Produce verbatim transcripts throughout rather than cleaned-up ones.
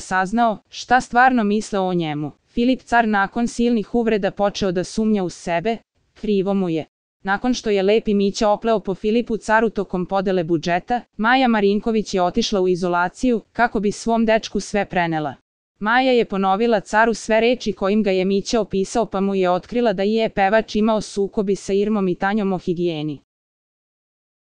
saznao šta stvarno misle o njemu. Filip car nakon silnih uvreda počeo da sumnja u sebe, krivo mu je. Nakon što je Lepi Mića opleo po Filipu caru tokom podele budžeta, Maja Marinković je otišla u izolaciju kako bi svom dečku sve prenela. Maja je ponovila caru sve reči kojim ga je Mića opisao, pa mu je otkrila da je pevač imao sukobi sa Irmom i Tanjom o higijeni.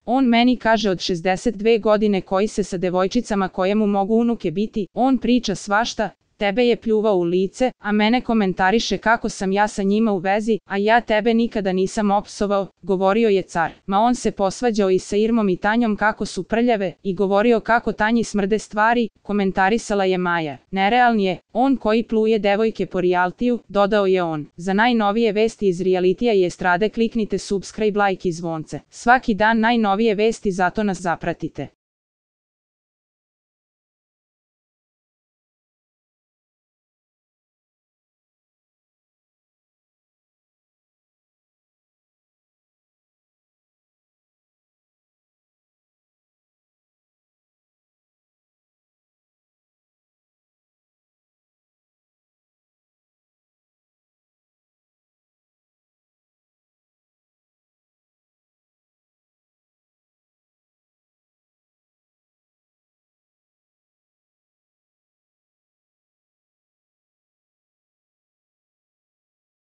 On meni kaže od šezdeset dve godine koji se sa devojčicama koje mu mogu unuke biti, on priča svašta, tebe je pljuvao u lice, a mene komentariše kako sam ja sa njima u vezi, a ja tebe nikada nisam opsovao, govorio je car. Ma on se posvađao i sa Irmom i Tanjom kako su prljave i govorio kako Tanji smrde stvari, komentarisala je Maja. Nerealni je, on koji pluje devojke po rijaltiju, dodao je on. Za najnovije vesti iz rijalitija i estrade kliknite subscribe, like i zvonce. Svaki dan najnovije vesti, zato nas zapratite.